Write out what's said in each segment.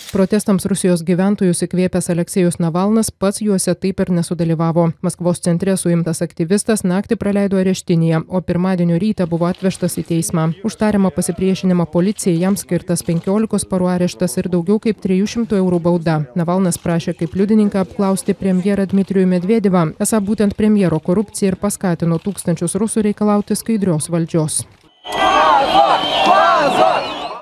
Protestams Rusijos gyventojus įkvėpęs Aleksejus Navalnas pats juose taip ir nesudalyvavo. Maskvos centre suimtas aktyvistas naktį praleido areštinėje, o pirmadienio rytą buvo atvežtas į teismą. Už tariamą pasipriešinimą policijai jam skirtas 15 parų areštas ir daugiau kaip 300 eurų bauda. Navalnas prašė kaip liudininką apklausti premjerą Dmitrijų Medvedevą. Esą būtent premjero korupcija ir paskatino tūkstančius rusų reikalauti skaidrios valdžios.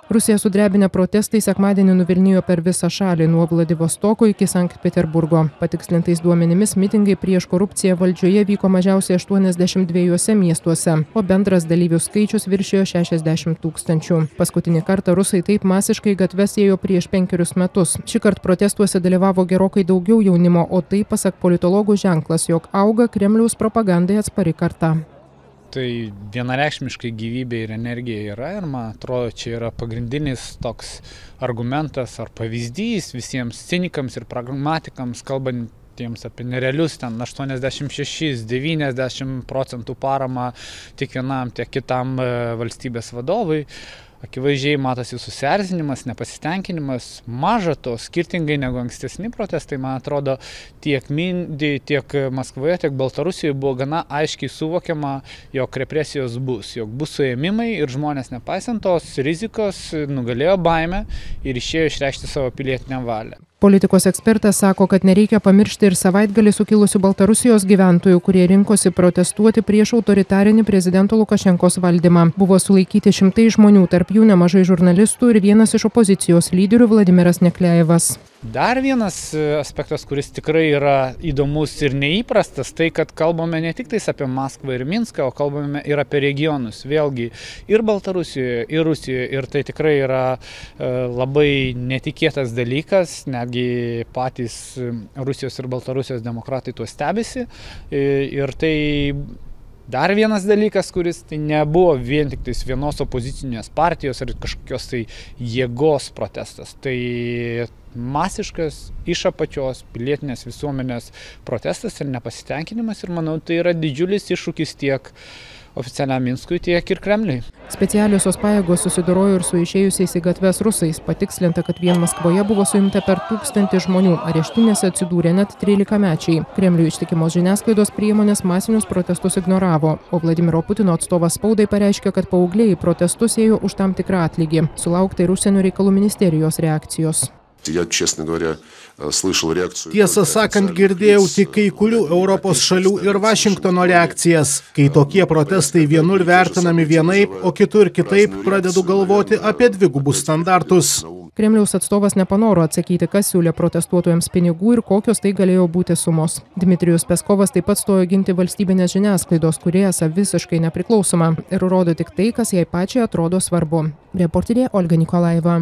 Rusija sudrebinę protestai sekmadienį nuvilnijo per visą šalį nuo Vladivostoko iki Sankt Peterburgo. Patikslintais duomenimis mitingai prieš korupciją valdžioje vyko mažiausiai 82 miestuose, o bendras dalyvių skaičius viršijo 60 000. Paskutinį kartą rusai taip masiškai gatves ėjo prieš 5 metus. Šįkart protestuose dalyvavo gerokai daugiau jaunimo, o tai pasak politologų ženklas, jog auga Kremliaus propagandai atspari karta. Tai vienareikšmiškai gyvybė ir energija yra ir man atrodo, čia yra pagrindinis toks argumentas ar pavyzdys visiems cinikams ir pragmatikams, kalbantiems apie nerealius ten 86–90% paramą tiek vienam, tiek kitam valstybės vadovui. Akivaizdžiai matosi susierzinimas, nepasitenkinimas. Maža to, skirtingai negu ankstesni protestai, man atrodo, tiek Mindy, tiek Maskvoje, tiek Baltarusijoje buvo gana aiškiai suvokiama, jog represijos bus, jog bus suėmimai ir žmonės nepaisant tos rizikos nugalėjo baimę ir išėjo išreikšti savo pilietinę valią. Politikos ekspertas sako, kad nereikia pamiršti ir savaitgalį sukilusių Baltarusijos gyventojų, kurie rinkosi protestuoti prieš autoritarinį prezidento Lukašenkos valdymą. Buvo sulaikyti šimtai žmonių, tarp jų nemažai žurnalistų ir vienas iš opozicijos lyderių Vladimiras Nekliajevas. Dar vienas aspektas, kuris tikrai yra įdomus ir neįprastas, tai kad kalbame ne tik apie Maskvą ir Minską, o kalbame ir apie regionus. Vėlgi ir Baltarusijoje, ir Rusijoje. Ir tai tikrai yra labai netikėtas dalykas, netgi patys Rusijos ir Baltarusijos demokratai tuo stebisi. Ir tai dar vienas dalykas, kuris tai nebuvo vien tik vienos opozicinės partijos ar kažkokios tai jėgos protestas. Tai masiškas iš apačios pilietinės visuomenės protestas ir nepasitenkinimas ir manau, tai yra didžiulis iššūkis tiek oficialiam Minskui, tiek ir Kremliui. Specialiosios pajėgos susidorojo ir su išėjusiais į gatves rusais. Patikslinta, kad vien Maskvoje buvo suimta per 1000 žmonių. Areštinėse atsidūrė net 13-mečiai. Kremliui ištikimos žiniasklaidos priemonės masinius protestus ignoravo, o Vladimiro Putino atstovas spaudai pareiškė, kad paaugliai į protestus ėjo už tam tikrą atlygį. Sulaukta ir Užsienio reikalų ministerijos reakcijos. Tiesą sakant, girdėjau tik kai kurių Europos šalių ir Vašingtono reakcijas. Kai tokie protestai vienur vertinami vienaip, o kitur kitaip, pradedu galvoti apie dvigubus standartus. Kremliaus atstovas nepanoro atsakyti, kas siūlė protestuotojams pinigų ir kokios tai galėjo būti sumos. Dmitrijus Peskovas taip pat stojo ginti valstybinės žiniasklaidos, kuri esą visiškai nepriklausoma ir rodo tik tai, kas jai pačiai atrodo svarbu. Reporterė Olga Nikolajeva.